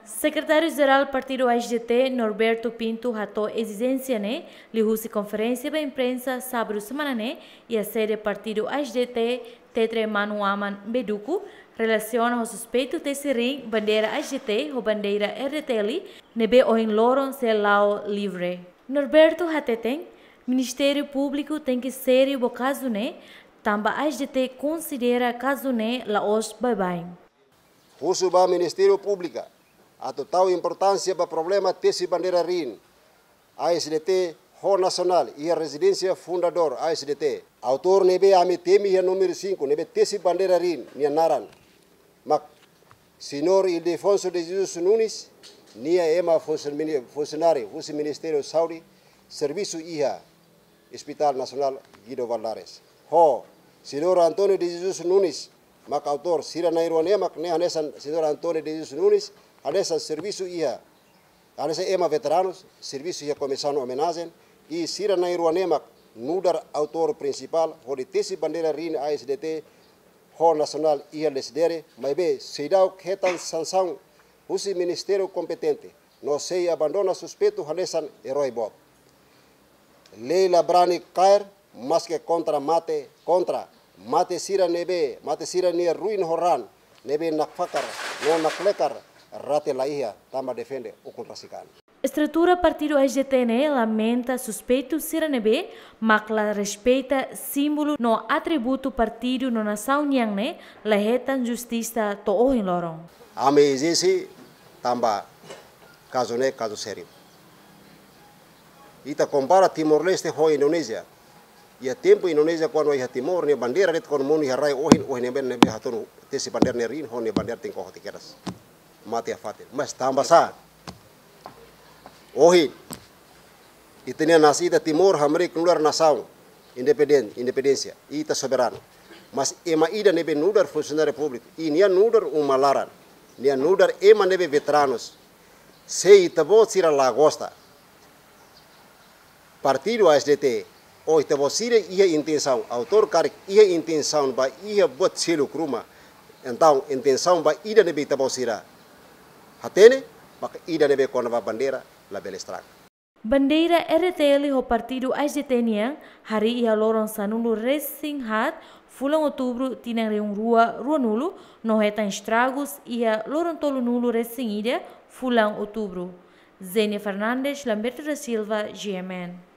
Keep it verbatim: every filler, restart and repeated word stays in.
Sekretáriu Jerál Partidu A S D T, Norberto Pinto, hato'o ezijénsia ne'e liuhusi konferénsia ba imprensa sábadu semana ne'e iha sede Partidu A S D T, Tetre Manu Aman, Beduku, relasiona ho suspeitu tesi riin bandeira A S D T ho bandeira R D T L ne'ebé ohin loron sei la'o livre. Norberto hateten, Ministériu Públiku tenke sériu ba kazu ne'e, tanba A S D T konsidera kazu ne'e la'ós baibain. Husu ba Ministériu Públiku atu tau importánsia ba problema tesi bandeira riin A S D T ho nasionál iha rezidénsia fundadór A S D T. Autór ne'ebé ami temi iha númeru sinku ne'ebé tesi bandeira riin nia naran mak Señór Ildefonso de Jesus Nunes, nia ema funsion-, mini-, funsionáriu husi Ministériu Saúde, servisu iha Hospital Nasionál Guido Valadares. Ho Señór António de Jesus Nunes, mak autór, sira na'in-rua ne'e mak ne'e hanesan Señór António de Jesus Nunes, hanesan servisu iha, hanesan ema veteranus, servisu iha Komisaun Omenajen, i sira na'in-rua ne'e mak nu'udar autór prinsipál hodi tesi bandeira riin A S D T ho nasionál iha Lecidere, maibé seidauk hetan sansaun husi ministériu kompetente, no sei abandona suspeitu hanesan erói boot. Lei la brani kaer, maske kontra mate, kontra mate sira ne'ebé, mate sira-nia ruin ho raan ne'ebé nakfakar no naklekar rate laiha tanba defende ukun rasik an. Estrutura partidu A S D T ne'e lamenta suspeitu sira ne'ebé mak la respeita símbolu no atributu partidu no nasaun nian ne'e la hetan justisa to'o ohin loron. Ami ezije tanba kazu ne'e kazu sériu. Ita kompara Timor-Leste ho Indonézia. Iha tempu Indonézia kuandu iha Timor nia bandeira de'it kuandu monu iha rai ohin, ohin ne'ebé, ne'ebé hatunu tesi bandeira ne'e riin ho nia bandeira tenke oho tiha kedas. Mate iha fatin. Mas tanba sá? Ohin ita-nia nasaun, ita Timor hamriik nu'udar nasaun independen-, independénsia, ita soberanu. Mas ema ida ne'ebé nu'udar funsionáriu públiku, i nia nu'udar uma laran, nia nu'udar ema ne'ebé veteranus, se ita-boot sira la gosta partidu A S D T, ou ita-boot sira iha intensaun, autór karik iha intensaun ba iha buat seluk ruma, entaun intensaun ba ida ne'ebé ita-boot sira hatene, maka ida ne'ebé kona-ba bandeira, labele estraga. Bandeira R D T L ho partidu A S D T nian harii iha loron sanulu-resin-haat fulan Outubru tinan rihun rua ruanulu, no hetan estragus iha loron tolunulu-resin-ida fulan Outubru. Zenia Fernandes, Lamberto da Silva, G M N.